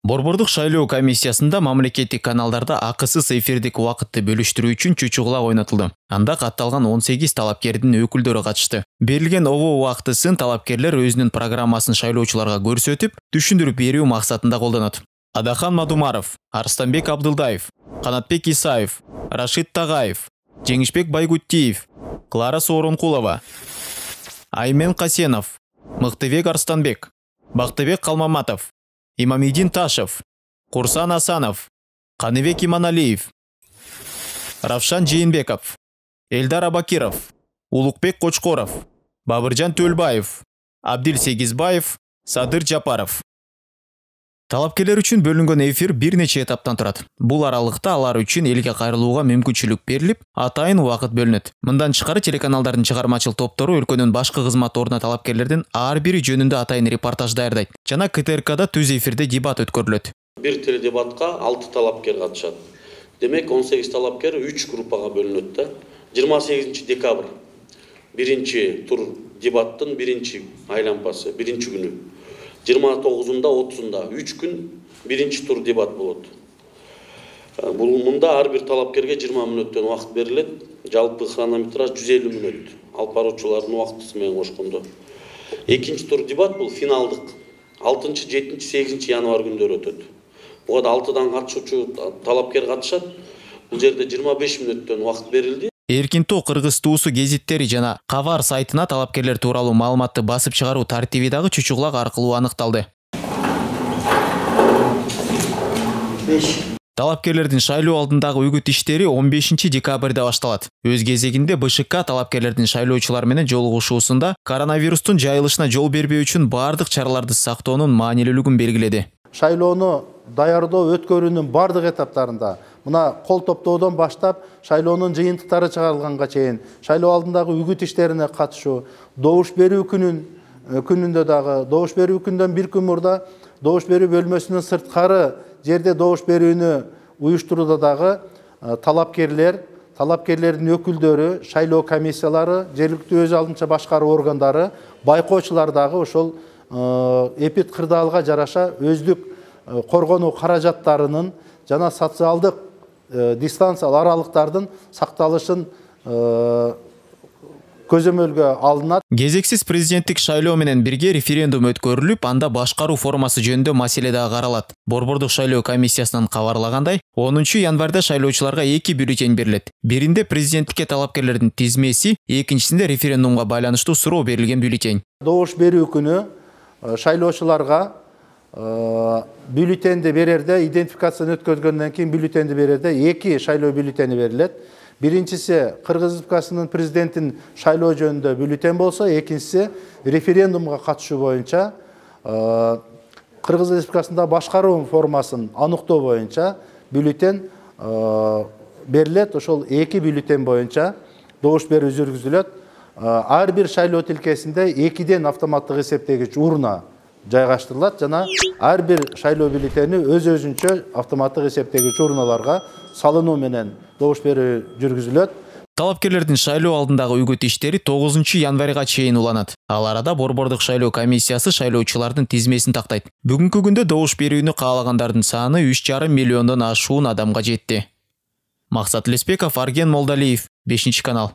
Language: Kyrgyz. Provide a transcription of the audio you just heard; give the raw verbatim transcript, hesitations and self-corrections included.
Борбордук шайлоо комиссиясында мамлекеттик каналдарда акысыз эфирдик убакытты бөлүштүрүү үчүн чучугула ойнотулду. Анда катталган он сегиз талапкердин өкүлдөрү катышты. Берилген ого убактысын талапкерлер өзүнүн программасын шайлоочуларга көрсөтүп, түшүндүрүп берүү максатында колдонот. Адахан Мадумаров, Арстанбек Абдылдаев, Канатбек Исаев, Рашид Тагаев, Жеңишбек Байгуттиев, Клара Сооронкулова, Аймен Касенов, Мыктыбек Арстанбек, Бактыбек Калмаматов, Имамидин Ташев, Курсан Асанов, Каныбек Иманалиев, Равшан Жээнбеков, Элдар Абакиров, Улукбек Кочкоров, Бабыржан Төлбаев, Абдил Сегизбаев, Садыр Жапаров. Талапкерлер үчүн бөлүнгөн эфир бир нече этаптан турат. Бул аралыкта алар үчүн элге кайрылууга мүмкүнчүлүк берилип, атайын убакыт бөлүнөт. Мындан тышкары телеканалдардын чыгармачыл топтору өлкөнүн башкы кызматторуна талапкерлердин ар бири жөнүндө атайын репортаж даярдайт. Жана ка тэ эр када түз эфирде дебат өткөрүлөт. Бир теледебатка алты талапкер катышат. Демек он сегиз талапкер үч группага бөлүнөт да. жыйырма сегизинчи декабрь биринчи тур дебаттын биринчи айланпасы, биринчи күнү. жыйырма тогузунда отузунда үч күн биринчи тур дебат болот. Бул мында ар бир талапкерге жыйырма мүнөттөн убакыт берилет. Жалпы хронометраж жүз элүү мүнөт. Алып баруучулардын убактысы менен кошкондо. Экинчи тур дебат бул финалдык. алтынчы, жетинчи, сегизинчи январь күндөрү өтөт. Буга алтыдан катышуучу талапкер катышат. Бул жерде жыйырма беш мүнөттөн убакыт берилди. Эркин тоо кыргыз туусу гезиттери жана Кабар сайтына талапкерлер тууралуу маалыматты басып чыгаруу тартиби дагы чучугулак аркылуу аныкталды. Талапкерлердин шайлоо алдындагы үгүт иштери он бешинчи декабрда башталат. Өз кезегинде бэ шэ ка талапкерлердин шайлоочулар менен жолугушуусунда коронавирустун жайылышына жол бербөө үчүн бардык чараларды сактоонун маанилүүлүгүн белгиледи. Шайлоону даярдоо өткөрүүнүн бардык этаптарында мына кол топтоодон баштап шайлоонун жыйынтыктары чыгарылганга чейин шайлоо алдындагы үгүт иштерине катышуу, добуш берүү күнүн күнүндө дагы добуш берүү күндөн бир күн мурда добуш берүү бөлмөсүнүн сырткары жерде добуш берүүнү уюштурууда дагы талапкерлер, талапкерлердин өкүлдөрү, шайлоо комиссиялары, жергиликтүү өз алдынча башкаруу органдары, байкоочулар дагы ошол эпид кырдаалга жараша өздүк коргонуу каражаттарынын жана социалдык дистанциялык аралыктардын сакталышын көзөмөлгө алынат. Кезексиз президенттик шайлоо менен бирге референдум өткөрүлүп, анда башкаруу формасы жөнүндө маселе дагы каралат. Борбордук шайлоо комиссиясынан кабарлагандай, онунчу январда шайлоочуларга эки бюллетень берилет. Биринде президенттикке талапкерлердин тизмеси, экинчисинде референдумга байланыштуу суроо берилген бюллетень. Добуш берүү күнү шайлоочуларга бюллетенди берерде, идентификацияны өткөргөндөн кийин бюллетенди берерде эки шайлоо бюллетени берилет. Биринчиси Кыргыз Республикасынын президентин шайлоо жөнүндө бюллетень болсо, экинчиси референдумга катышуу боюнча Кыргыз Республикасында башкаруу формасын аныктоо боюнча бюллетень берилет. Ошол эки бюллетень боюнча добуш берүү жүргүзүлөт. Ар бир шайлоо тилкесинде экиден автоматтык эсептегич урна жайгаштырылат жана ар бир шайлоо бюллетени өз-өзүнчө автоматтык эсептегич урналарга салынуу менен добуш берүү жүргүзүлөт. Талапкерлердин шайлоо алдындагы үгүт иштери тогузунчу январга чейин уланат. Ал арада Борбордук шайлоо комиссиясы шайлоочулардын тизмесин тактайт. Бүгүнкү күндө добуш берүүнү каалагандардын саны үч жарым миллиондон ашуун адамга жетти. Максат Леспеков, Арген Молдалиев, бешинчи канал.